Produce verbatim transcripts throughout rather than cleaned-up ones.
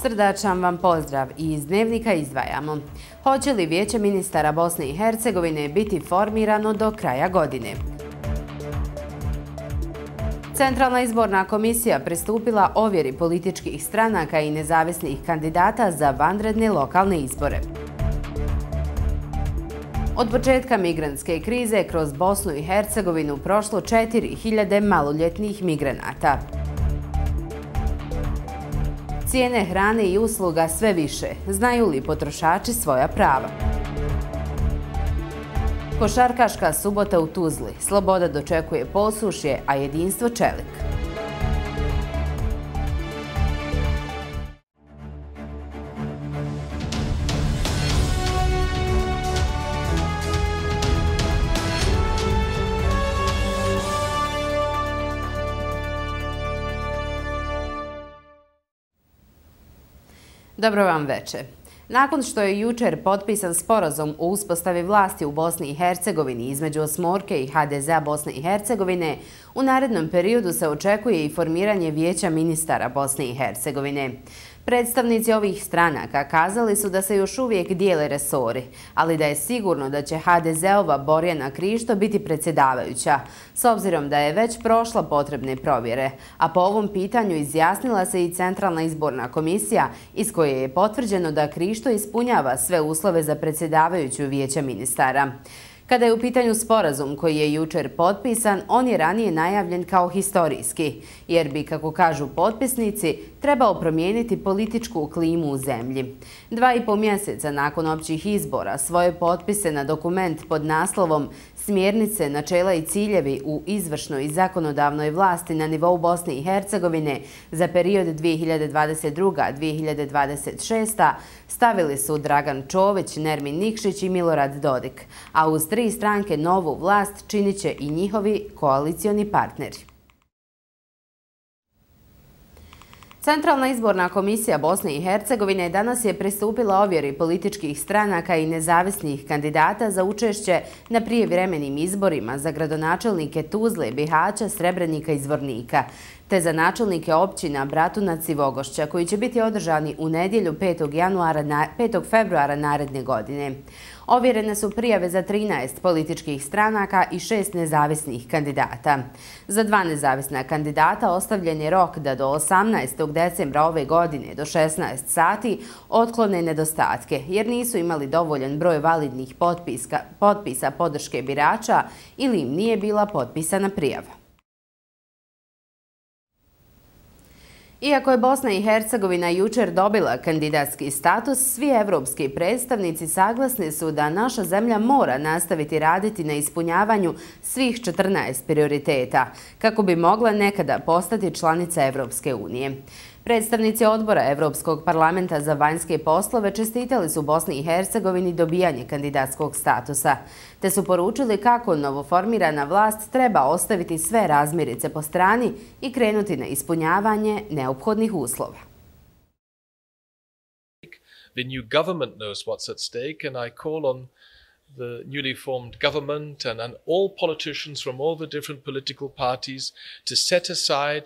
Srdačan vam pozdrav i iz Dnevnika izdvajamo. Hoće li Vijeće ministara Bosne i Hercegovine biti formirano do kraja godine? Centralna izborna komisija pristupila ovjeri političkih stranaka i nezavisnih kandidata za vanredne lokalne izbore. Od početka migrantske krize kroz Bosnu i Hercegovinu prošlo četiri hiljade maloljetnih migranata. Cijene hrane i usluga sve više. Znaju li potrošači svoja prava? Košarkaška subota u Tuzli. Sloboda dočekuje posušje, a jedinstvo čelik. Dobro vam večer. Nakon što je jučer potpisan sporazum o uspostavi vlasti u Bosni i Hercegovini između Osmorke i ha de zea Bosne i Hercegovine, u narednom periodu se očekuje i formiranje Vijeća ministara Bosne i Hercegovine. Predstavnici ovih stranaka kazali su da se još uvijek dijele resori, ali da je sigurno da će ha de zeova Borjana Krišto biti predsjedavajuća, s obzirom da je već prošla potrebne provjere, a po ovom pitanju izjasnila se i Centralna izborna komisija iz koje je potvrđeno da Krišto ispunjava sve uslove za predsjedavajuću Vijeća ministara. Kada je u pitanju sporazum koji je jučer potpisan, on je ranije najavljen kao historijski, jer bi, kako kažu potpisnici, trebao promijeniti političku klimu u zemlji. Dva i po mjeseca nakon općih izbora svoje potpise na dokument pod naslovom Smjernice, načela i ciljevi u izvršnoj i zakonodavnoj vlasti na nivou Bosne i Hercegovine za period dvije hiljade dvadeset druga do dvije hiljade dvadeset šesta stavili su Dragan Čović, Nermin Nikšić i Milorad Dodik, a uz tri stranke novu vlast činit će i njihovi koalicioni partneri. Centralna izborna komisija Bosne i Hercegovine danas je pristupila ovjeri političkih stranaka i nezavisnih kandidata za učešće na prijevremenim izborima za gradonačelnike Tuzle, Bihaća, Srebrenika i Zvornika, te za načelnike općina Bratunac i Vogošća, koji će biti održani u nedjelju petog februara naredne godine. Ovjerene su prijave za trinaest političkih stranaka i šest nezavisnih kandidata. Za dva nezavisna kandidata ostavljen je rok da do osamnaestog decembra ove godine do šesnaest sati otklone nedostatke, jer nisu imali dovoljan broj validnih potpisa, potpisa podrške birača ili im nije bila potpisana prijava. Iako je Bosna i Hercegovina jučer dobila kandidatski status, svi evropski predstavnici saglasni su da naša zemlja mora nastaviti raditi na ispunjavanju svih četrnaest prioriteta kako bi mogla nekada postati članica Evropske unije. Predstavnici odbora Evropskog parlamenta za vanjske poslove čestitali su Bosni i Hercegovini dobijanje kandidatskog statusa, te su poručili kako novoformirana vlast treba ostaviti sve razmirice po strani i krenuti na ispunjavanje neophodnih uslova. The new government knows what's at stake, and I call on the newly formed government and, and all politicians from all the different political parties to set aside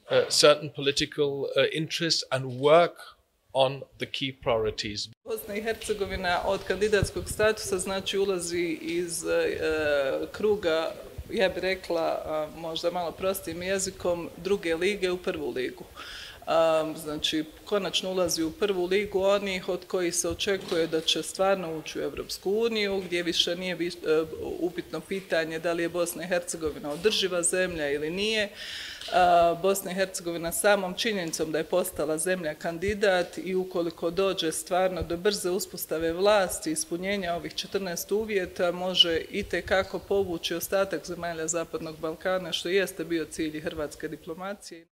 Uh, certain political uh, interests and work on the key priorities. Bosna i Hercegovina od kandidatskog statusa znači ulazi iz uh, kruga, ja bih rekla uh, možda malo prostijim jezikom, druge lige u prvu ligu. Um, znači, konačno ulazi u prvu ligu onih od kojih se očekuje da će stvarno ući u Evropsku uniju, gdje više nije uh, upitno pitanje da li je Bosna i Hercegovina održiva zemlja ili nije. Uh, Bosna i Hercegovina samom činjenicom da je postala zemlja kandidat i ukoliko dođe stvarno do brze uspostave vlasti i ispunjenja ovih četrnaest uvjeta može itekako povući ostatak zemalja Zapadnog Balkana, što jeste bio cilj hrvatske diplomacije.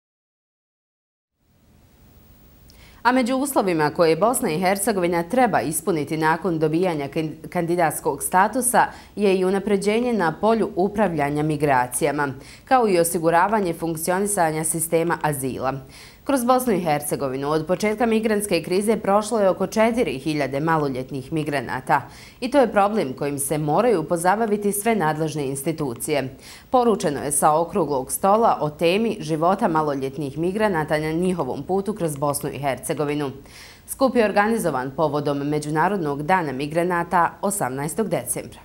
A među uslovima koje Bosna i Hercegovina treba ispuniti nakon dobijanja kandidatskog statusa je i unapređenje na polju upravljanja migracijama, kao i osiguravanje funkcionisanja sistema azila. Kroz Bosnu i Hercegovinu od početka migrantske krize prošlo je oko četiri hiljade maloljetnih migranata i to je problem kojim se moraju pozabaviti sve nadležne institucije. Poručeno je sa okruglog stola o temi života maloljetnih migranata na njihovom putu kroz Bosnu i Hercegovinu. Skup je organizovan povodom Međunarodnog dana migranata osamnaestog decembra.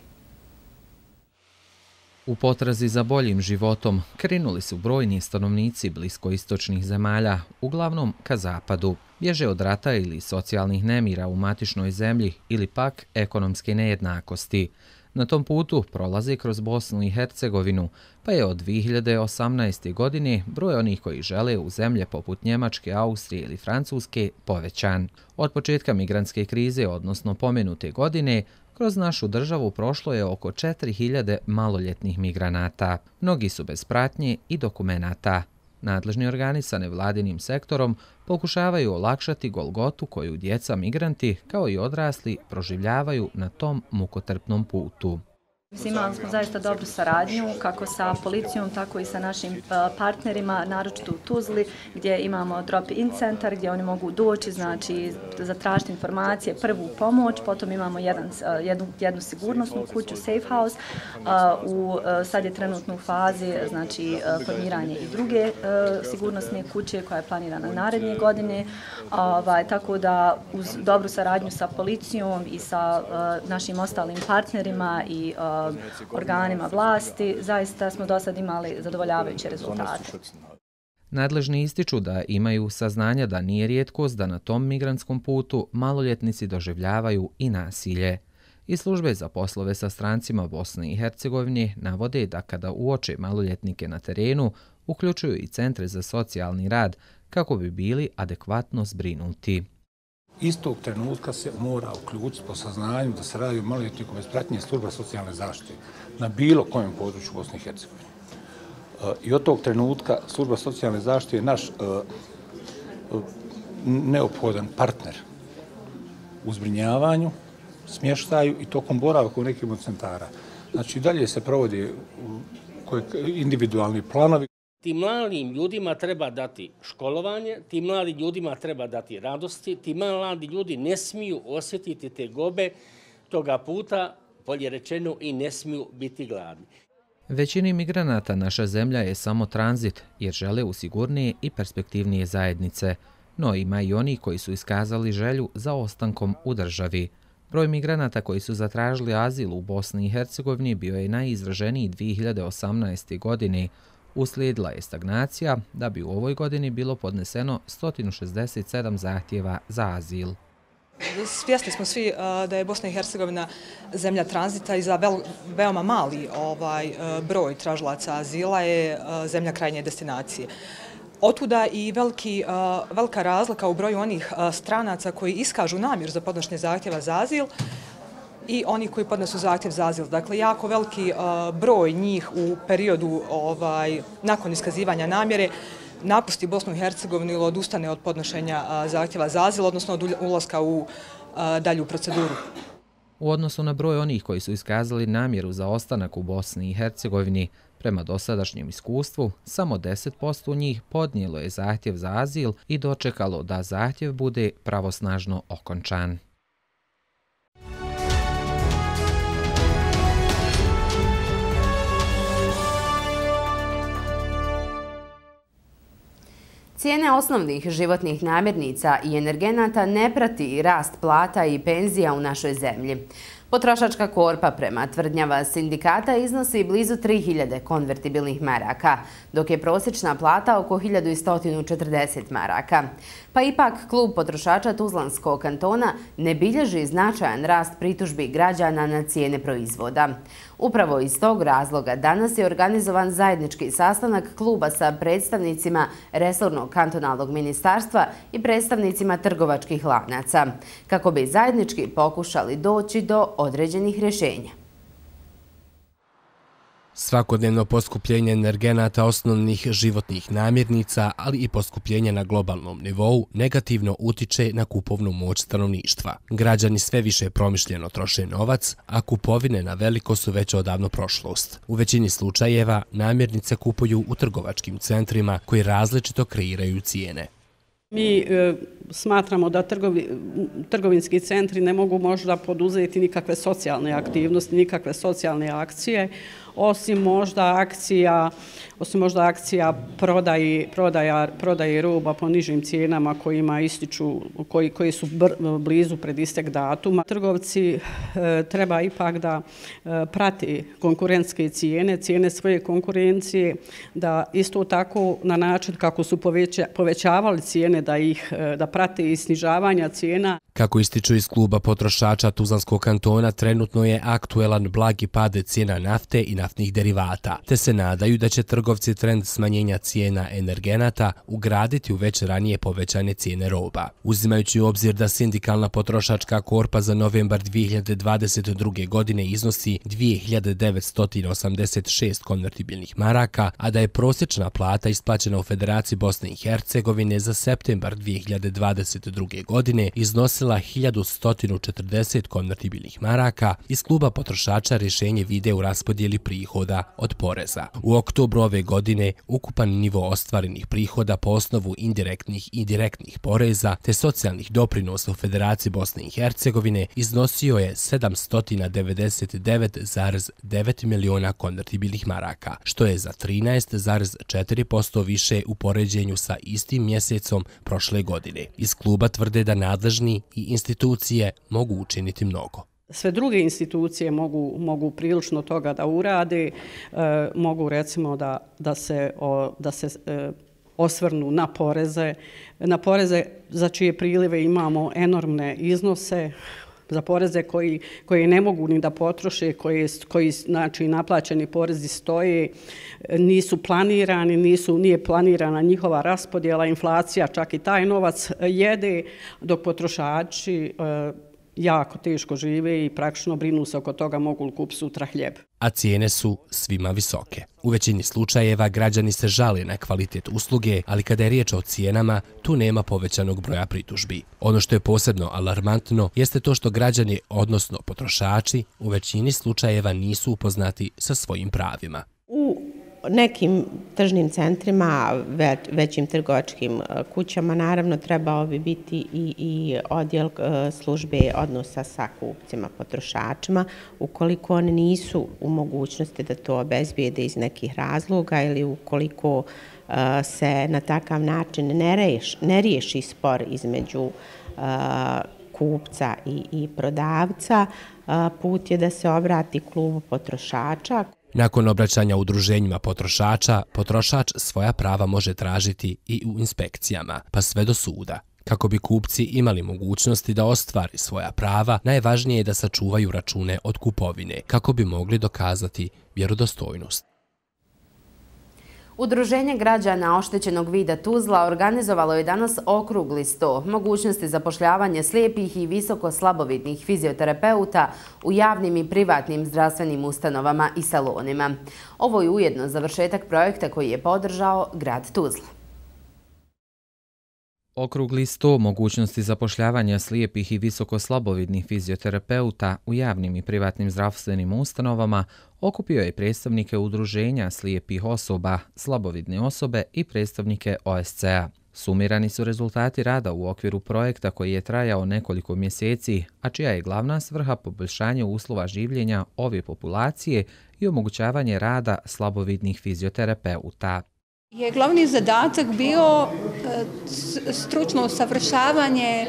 U potrazi za boljim životom krenuli su brojni stanovnici bliskoistočnih zemalja, uglavnom ka zapadu. Bježe od rata ili socijalnih nemira u matičnoj zemlji ili pak ekonomske nejednakosti. Na tom putu prolaze kroz Bosnu i Hercegovinu, pa je od dvije hiljade osamnaeste. godine broj onih koji žele u zemlje poput Njemačke, Austrije ili Francuske povećan. Od početka migrantske krize, odnosno pomenute godine, kroz našu državu prošlo je oko četiri hiljade maloljetnih migranata. Mnogi su bez pratnje i dokumenata. Nadležni organi sa nevladinim sektorom pokušavaju olakšati golgotu koju djeca migranti, kao i odrasli, proživljavaju na tom mukotrpnom putu. Imali smo zaista dobru saradnju kako sa policijom, tako i sa našim partnerima, naročito u Tuzli, gdje imamo drop-in centar gdje oni mogu doći, znači zatražiti informacije, prvu pomoć, potom imamo jedan, jednu, jednu sigurnosnu kuću, safe house, u, sad je trenutno u fazi znači, formiranje i druge sigurnosne kuće koja je planirana naredne godine, ovaj, tako da uz dobru saradnju sa policijom i sa našim ostalim partnerima i organima vlasti, zaista smo do sad imali zadovoljavajuće rezultate. Nadležni ističu da imaju saznanja da nije rijetkost da na tom migrantskom putu maloljetnici doživljavaju i nasilje. I službe za poslove sa strancima Bosne i Hercegovine navode da kada uoče maloljetnike na terenu, uključuju i centre za socijalni rad kako bi bili adekvatno zbrinuti. Istog trenutka se mora uključiti po saznanju da se radi o maloljetniku bez pratnje služba socijalne zaštite na bilo kojem području Bosne i Hercegovine. I od tog trenutka služba socijalne zaštite je naš neophodan partner u zbrinjavanju, smještaju i tokom boravka u nekim od centara. Znači, dalje se provodi individualni planovi. Tim mladim ljudima treba dati školovanje, tim mladim ljudima treba dati radosti, ti mladi ljudi ne smiju osjetiti te gobe toga puta, bolje rečeno, i ne smiju biti gladni. Većini migranata naša zemlja je samo tranzit jer žele u sigurnije i perspektivnije zajednice, no ima i oni koji su iskazali želju za ostankom u državi. Broj migranata koji su zatražili azil u Bosni i Hercegovini bio je najizraženiji dvije hiljade osamnaeste. godine. Uslijedila je stagnacija da bi u ovoj godini bilo podneseno sto šezdeset sedam zahtjeva za azil. Svjesni smo svi da je Bosna i Hercegovina zemlja tranzita i za vel, veoma mali ovaj, broj tražilaca azila je zemlja krajnje destinacije. Otuda i veliki, velika razlika u broju onih stranaca koji iskažu namjeru za podnošenje zahtjeva za azil i oni koji podnesu zahtjev za azil. Dakle, jako veliki uh, broj njih u periodu ovaj, nakon iskazivanja namjere napusti Bosnu i Hercegovinu ili odustane od podnošenja uh, zahtjeva za azil, odnosno od ulaska u uh, dalju proceduru. U odnosu na broj onih koji su iskazali namjeru za ostanak u Bosni i Hercegovini, prema dosadašnjem iskustvu, samo deset posto njih podnijelo je zahtjev za azil i dočekalo da zahtjev bude pravosnažno okončan. Cijene osnovnih životnih namirnica i energenata ne prati rast plata i penzija u našoj zemlji. Potrošačka korpa prema tvrdnjama sindikata iznosi blizu tri hiljade konvertibilnih maraka, dok je prosječna plata oko hiljadu sto četrdeset maraka. Pa ipak klub potrošača Tuzlanskog kantona ne bilježi značajan rast pritužbi građana na cijene proizvoda. Upravo iz tog razloga danas je organizovan zajednički sastanak kluba sa predstavnicima resornog kantonalnog ministarstva i predstavnicima trgovačkih lanaca, kako bi zajednički pokušali doći do određenih rješenja. Svakodnevno poskupljenje energenata osnovnih životnih namirnica, ali i poskupljenje na globalnom nivou negativno utiče na kupovnu moć stanovništva. Građani sve više promišljeno troše novac, a kupovine na veliko su već odavno prošlost. U većini slučajeva namirnice kupuju u trgovačkim centrima koji različito kreiraju cijene. Mi e, smatramo da trgovi, trgovinski centri ne mogu možda poduzeti nikakve socijalne aktivnosti, nikakve socijalne akcije, osim možda akcija, osim možda akcija prodaji, prodaja, prodaje roba po nižim cijenama kojima ističu, koji, koji su br, blizu pred istek datuma. Trgovci e, treba ipak da e, prati konkurentske cijene, cijene svoje konkurencije, da isto tako na način kako su poveća, povećavali cijene da ih e, da prate i snižavanja cijena. Kako ističu iz kluba potrošača Tuzlanskog kantona, trenutno je aktuelan blagi pad cijena nafte i naftnih derivata, te se nadaju da će trgovci trend smanjenja cijena energenata ugraditi u već ranije povećane cijene roba. Uzimajući u obzir da sindikalna potrošačka korpa za novembar dvije hiljade dvadeset druge. godine iznosi dvije hiljade devetsto osamdeset šest konvertibilnih maraka, a da je prosječna plata isplaćena u Federaciji Bosne i Hercegovine za septembar dvije hiljade dvadeset druge. godine iznosila hiljadu sto četrdeset konvertibilnih maraka, iz kluba potrošača rješenje vide u raspodjeli prihoda od poreza. U oktobru ove godine ukupan nivo ostvarenih prihoda po osnovu indirektnih i direktnih poreza te socijalnih doprinosa u Federaciji Bosne i Hercegovine iznosio je sedamsto devedeset devet zarez devet miliona konvertibilnih maraka, što je za trinaest zarez četiri posto više u poređenju sa istim mjesecom prošle godine. Iz kluba tvrde da nadležni i institucije mogu učiniti mnogo. Sve druge institucije mogu, mogu prilično toga da urade, e, mogu recimo da, da se, o, da se e, osvrnu na poreze, na poreze za čije prilive imamo enormne iznose, za poreze koji, koji ne mogu ni da potroše, koji, koji znači, naplaćeni porezi stoje, nisu planirani, nisu, nije planirana njihova raspodjela, inflacija čak i taj novac jede, dok potrošači e, jako teško žive i praktično brinu se oko toga mogu li kupiti sutra hljeb. A cijene su svima visoke. U većini slučajeva građani se žale na kvalitet usluge, ali kada je riječ o cijenama, tu nema povećanog broja pritužbi. Ono što je posebno alarmantno jeste to što građani, odnosno potrošači, u većini slučajeva nisu upoznati sa svojim pravima. U nekim tržnim centrima, većim trgovačkim kućama, naravno trebao bi biti i, i odjel službe odnosa sa kupcima, potrošačima, ukoliko oni nisu u mogućnosti da to obezbijede iz nekih razloga ili ukoliko se na takav način ne, reš, ne riješi spor između kupca i, i prodavca, put je da se obrati klubu potrošača. Nakon obraćanja udruženjima potrošača, potrošač svoja prava može tražiti i u inspekcijama, pa sve do suda. Kako bi kupci imali mogućnosti da ostvari svoja prava, najvažnije je da sačuvaju račune od kupovine, kako bi mogli dokazati vjerodostojnost. Udruženje građana oštećenog vida Tuzla organizovalo je danas okrugli sto mogućnosti zapošljavanja slijepih i visoko slabovidnih fizioterapeuta u javnim i privatnim zdravstvenim ustanovama i salonima. Ovo je ujedno završetak projekta koji je podržao grad Tuzla. Okrugli sto mogućnosti zapošljavanja slijepih i visoko slabovidnih fizioterapeuta u javnim i privatnim zdravstvenim ustanovama okupio je predstavnike udruženja slijepih osoba, slabovidne osobe i predstavnike O S C A. Sumirani su rezultati rada u okviru projekta koji je trajao nekoliko mjeseci, a čija je glavna svrha poboljšanje uslova življenja ove populacije i omogućavanje rada slabovidnih fizioterapeuta. Je glavni zadatak bio stručno usavršavanje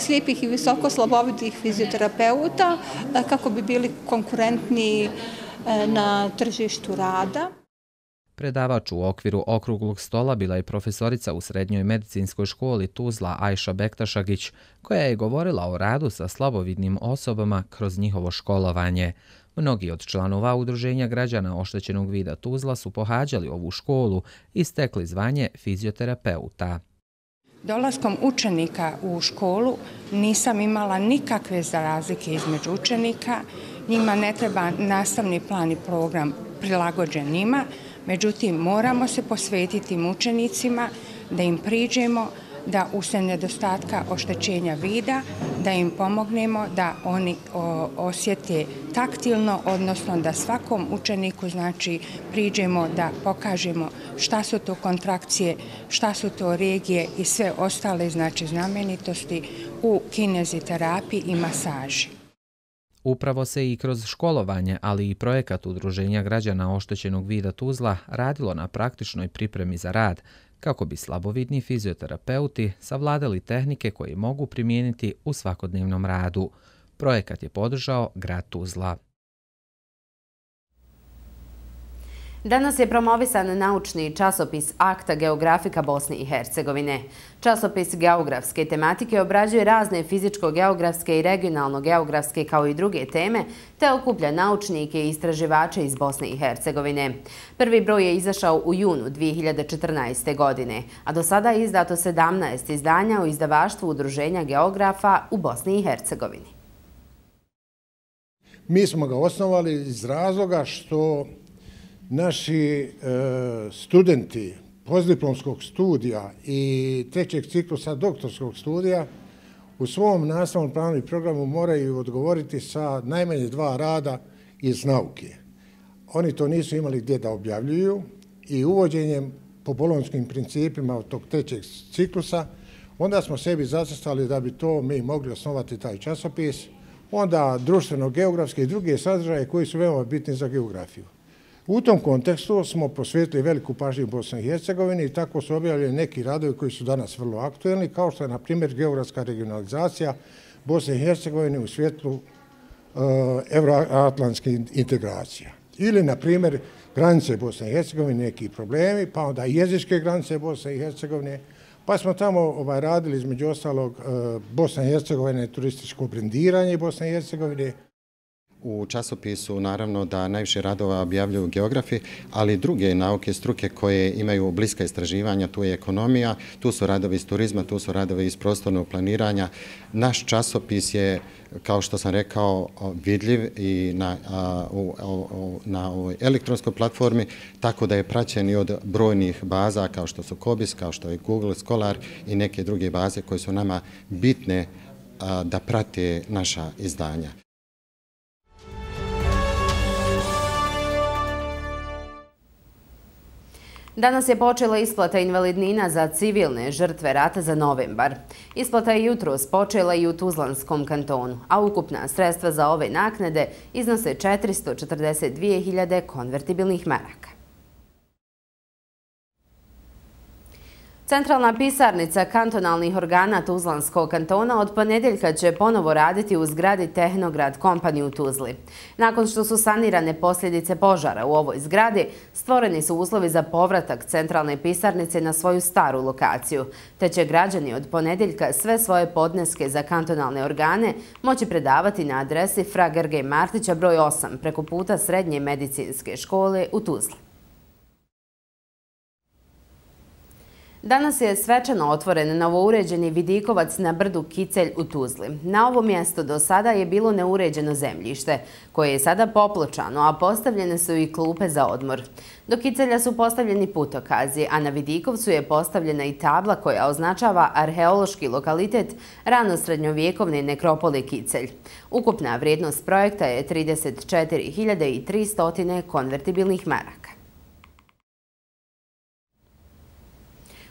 slijepih i visoko slabovidnih fizioterapeuta kako bi bili konkurentni na tržištu rada. Predavač u okviru okruglog stola bila je profesorica u Srednjoj medicinskoj školi Tuzla Ajša Bektašagić, koja je govorila o radu sa slabovidnim osobama kroz njihovo školovanje. Mnogi od članova udruženja građana oštećenog vida Tuzla su pohađali ovu školu i stekli zvanje fizioterapeuta. Dolaskom učenika u školu nisam imala nikakve razlike između učenika. Njima ne treba nastavni plan i program prilagođen njima, međutim moramo se posvetiti učenicima da im priđemo, da usred nedostatka oštećenja vida, da im pomognemo da oni osjete taktilno, odnosno da svakom učeniku znači priđemo da pokažemo šta su to kontrakcije, šta su to regije i sve ostale znači znamenitosti u kineziterapiji i masaži. Upravo se i kroz školovanje, ali i projekat Udruženja građana oštećenog vida Tuzla radilo na praktičnoj pripremi za rad, kako bi slabovidni fizioterapeuti savladali tehnike koje mogu primijeniti u svakodnevnom radu. Projekat je podržao grad Tuzla. Danas je promovisan naučni časopis Akta geografika Bosne i Hercegovine. Časopis geografske tematike obrađuje razne fizičko-geografske i regionalno-geografske kao i druge teme, te okuplja naučnike i istraživače iz Bosne i Hercegovine. Prvi broj je izašao u junu dvije hiljade četrnaeste. godine, a do sada je izdato sedamnaest izdanja u izdavaštvu Udruženja geografa u Bosni i Hercegovini. Mi smo ga osnovali iz razloga što naši studenti postdiplomskog studija i trećeg ciklusa doktorskog studija u svom nastavnom planu i programu moraju odgovoriti sa najmanje dva rada iz nauke. Oni to nisu imali gdje da objavljuju i uvođenjem po bolonjskim principima od tog trećeg ciklusa onda smo sebi zacrtali da bi to mi mogli osnovati taj časopis, onda društveno-geografske i druge sadržaje koji su veoma bitni za geografiju. U tom kontekstu smo posvetili veliku pažnju Bosni i Hercegovini i tako su objavljeni neki radovi koji su danas vrlo aktuelni, kao što je, na primjer, geografska regionalizacija Bosne i Hercegovine u svjetlu evroatlantskih integracija. Ili, na primjer, granice Bosne i Hercegovine, neki problemi, pa onda jezičke granice Bosne i Hercegovine, pa smo tamo radili, između ostalog, Bosna i Hercegovine, turističko brendiranje Bosne i Hercegovine. U časopisu naravno da najviše radova objavljuju geografi, ali druge nauke, struke koje imaju bliska istraživanja, tu je ekonomija, tu su radovi iz turizma, tu su radovi iz prostornog planiranja. Naš časopis je, kao što sam rekao, vidljiv i na, u, u, na ovoj elektronskoj platformi, tako da je praćen i od brojnih baza kao što su Kobis, kao što je Google Scholar i neke druge baze koje su nama bitne da prate naša izdanja. Danas je počela isplata invalidnina za civilne žrtve rata za novembar. Isplata je jutros počela i u Tuzlanskom kantonu, a ukupna sredstva za ove naknade iznose četiristo četrdeset dvije hiljade konvertibilnih maraka. Centralna pisarnica kantonalnih organa Tuzlanskog kantona od ponedjeljka će ponovo raditi u zgradi Tehnograd kompanije u Tuzli. Nakon što su sanirane posljedice požara u ovoj zgradi, stvoreni su uslovi za povratak centralne pisarnice na svoju staru lokaciju, te će građani od ponedjeljka sve svoje podneske za kantonalne organe moći predavati na adresi Fra Grge Martića broj osam preko puta Srednje medicinske škole u Tuzli. Danas je svečano otvoren novouređeni vidikovac na brdu Kicelj u Tuzli. Na ovom mjestu do sada je bilo neuređeno zemljište, koje je sada popločano, a postavljene su i klupe za odmor. Do Kicelja su postavljeni putokazi, a na Vidikovcu je postavljena i tabla koja označava arheološki lokalitet ranosrednjovjekovne nekropole Kicelj. Ukupna vrijednost projekta je trideset četiri hiljade tristo konvertibilnih maraka.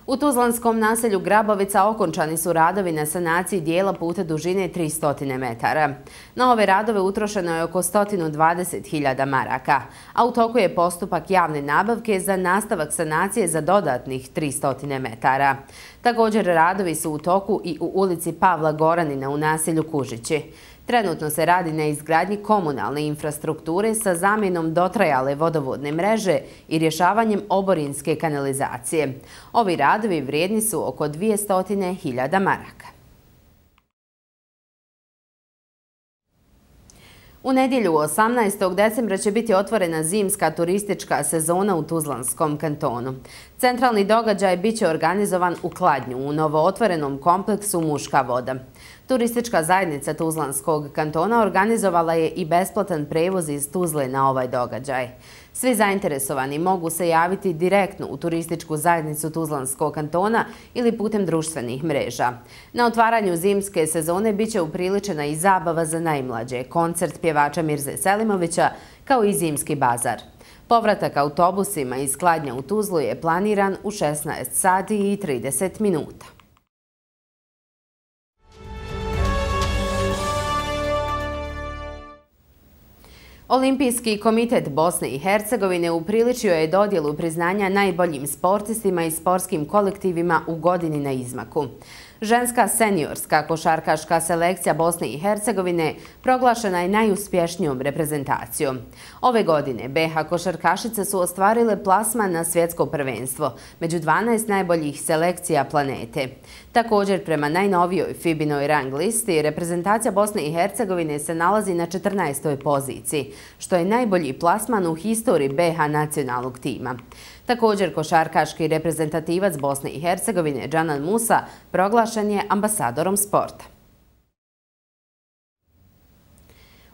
U tuzlanskom naselju Grabovica okončani su radovi na sanaciji dijela puta dužine tristo metara. Na ove radove utrošeno je oko sto dvadeset hiljada maraka, a u toku je postupak javne nabavke za nastavak sanacije za dodatnih tristo metara. Također radovi su u toku i u ulici Pavla Goranina u naselju Kužići. Trenutno se radi na izgradnji komunalne infrastrukture sa zamjenom dotrajale vodovodne mreže i rješavanjem oborinske kanalizacije. Ovi radovi vrijedni su oko dvjesto hiljada maraka. U nedjelju osamnaestog decembra će biti otvorena zimska turistička sezona u Tuzlanskom kantonu. Centralni događaj biće organizovan u Kladnju u novootvorenom kompleksu Muška voda. Turistička zajednica Tuzlanskog kantona organizovala je i besplatan prevoz iz Tuzle na ovaj događaj. Svi zainteresovani mogu se javiti direktno u turističku zajednicu Tuzlanskog kantona ili putem društvenih mreža. Na otvaranju zimske sezone biće upriličena i zabava za najmlađe, koncert pjevača Mirze Selimovića kao i zimski bazar. Povratak autobusima iz Kladnja u Tuzlu je planiran u šesnaest sati i trideset minuta. Olimpijski komitet Bosne i Hercegovine upriličio je dodjelu priznanja najboljim sportistima i sportskim kolektivima u godini na izmaku. Ženska seniorska košarkaška selekcija Bosne i Hercegovine proglašena je najuspješnijom reprezentacijom. Ove godine B H košarkašice su ostvarile plasman na svjetsko prvenstvo među dvanaest najboljih selekcija planete. Također, prema najnovijoj Fibinoj rang listi, reprezentacija Bosne i Hercegovine se nalazi na četrnaestoj poziciji, što je najbolji plasman u historiji B H nacionalnog tima. Također, košarkaški reprezentativac Bosne i Hercegovine Džanan Musa proglašen je ambasadorom sporta.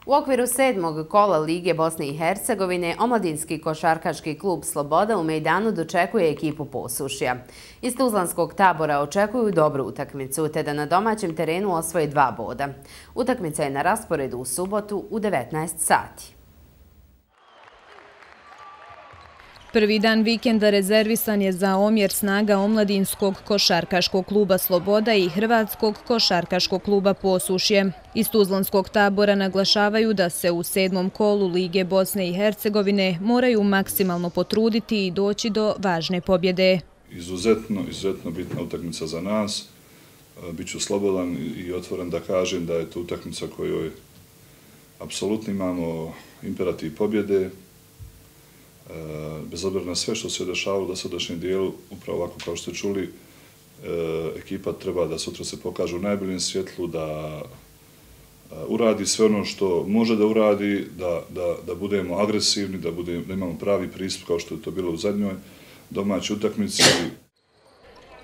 U okviru sedmog kola Lige Bosne i Hercegovine, omladinski košarkaški klub Sloboda u Mejdanu dočekuje ekipu Posušja. Iz Tuzlanskog tabora očekuju dobru utakmicu, te da na domaćem terenu osvoje dva boda. Utakmica je na rasporedu u subotu u devetnaest sati. Prvi dan vikenda rezervisan je za omjer snaga omladinskog košarkaškog kluba Sloboda i Hrvatskog košarkaškog kluba Posušje. Iz Tuzlanskog tabora naglašavaju da se u sedmom kolu Lige Bosne i Hercegovine moraju maksimalno potruditi i doći do važne pobjede. Izuzetno, izuzetno bitna utakmica za nas. Biću slobodan i otvoren da kažem da je to utakmica kojoj apsolutno imamo imperativ pobjede. Bez obzira na sve što se dešavalo u dosadašnjem dijelu, upravo ovako kao što ste čuli, ekipa treba da sutra se pokaže u najboljem svjetlu, da uradi sve ono što može da uradi, da, da, da budemo agresivni, da, budemo, da imamo pravi pristup kao što je to bilo u zadnjoj domaćoj utakmici.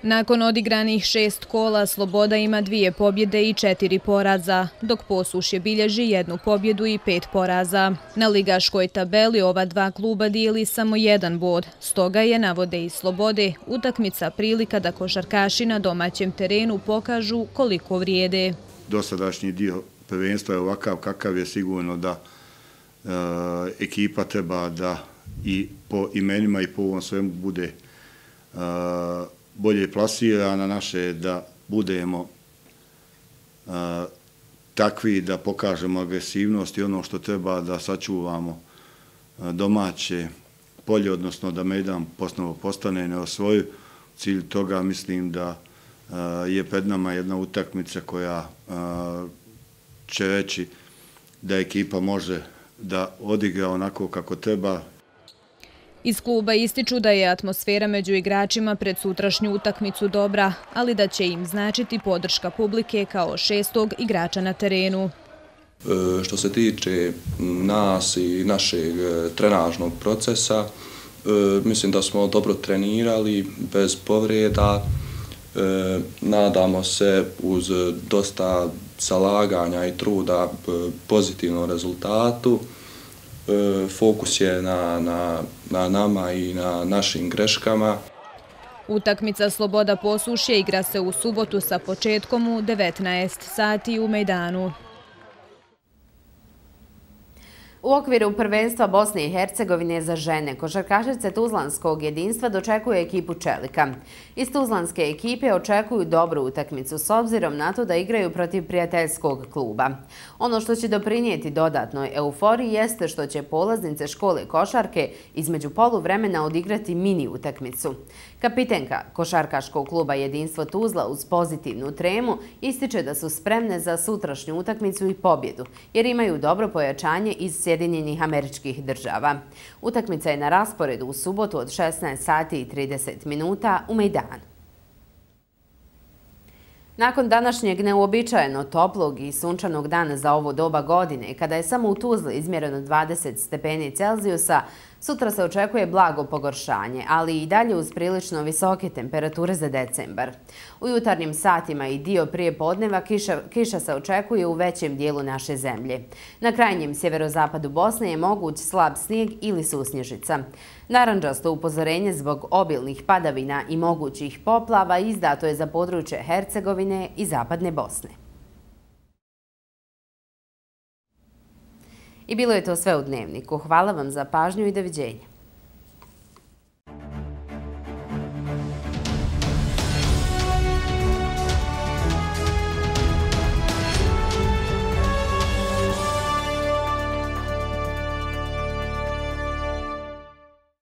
Nakon odigranih šest kola, Sloboda ima dvije pobjede i četiri poraza, dok Posušje bilježi jednu pobjedu i pet poraza. Na ligaškoj tabeli ova dva kluba dijeli samo jedan bod, stoga je, navode iz Slobode, utakmica prilika da košarkaši na domaćem terenu pokažu koliko vrijede. Dosadašnji dio prvenstva je ovakav kakav je, sigurno da e, ekipa treba da i po imenima i po ovom svemu bude e, bolje plasirana, naše da budemo a, takvi da pokažemo agresivnost i ono što treba da sačuvamo a, domaće polje, odnosno da Mejdan posnovo postane neosvojiv. Cilj toga mislim da a, je pred nama jedna utakmica koja a, će reći da ekipa može da odigra onako kako treba. Iz kluba ističu da je atmosfera među igračima pred sutrašnju utakmicu dobra, ali da će im značiti podrška publike kao šestog igrača na terenu. E, što se tiče nas i našeg trenažnog procesa, e, mislim da smo dobro trenirali, bez povreda. E, nadamo se uz dosta zalaganja i truda pozitivnom rezultatu. Fokus je na, na, na nama i na našim greškama. Utakmica Sloboda Posušje igra se u subotu sa početkom u devetnaest sati u Mejdanu. U okviru prvenstva Bosne i Hercegovine za žene, košarkašice Tuzlanskog jedinstva dočekuje ekipu Čelika. Iz Tuzlanske ekipe očekuju dobru utakmicu s obzirom na to da igraju protiv prijateljskog kluba. Ono što će doprinijeti dodatnoj euforiji jeste što će polaznice škole košarke između poluvremena odigrati mini utakmicu. Kapitenka košarkaškog kluba Jedinstvo Tuzla uz pozitivnu tremu ističe da su spremne za sutrašnju utakmicu i pobjedu, jer imaju dobro pojačanje iz Sjedinjenih Američkih Država. Utakmica je na rasporedu u subotu od šesnaest sati i trideset minuta u Mejdanu. Nakon današnjeg neuobičajeno toplog i sunčanog dana za ovo doba godine, kada je samo u Tuzli izmjereno dvadeset stepeni Celzijusa, Sutra se očekuje blago pogoršanje, ali i dalje uz prilično visoke temperature za decembar. U jutarnjim satima i dio prije podneva kiša, kiša se očekuje u većem dijelu naše zemlje. Na krajnjem sjeverozapadu Bosne je moguć slab snijeg ili susnježica. Narandžasto upozorenje zbog obilnih padavina i mogućih poplava izdato je za područje Hercegovine i zapadne Bosne. I bilo je to sve u Dnevniku. Hvala vam za pažnju i doviđenja.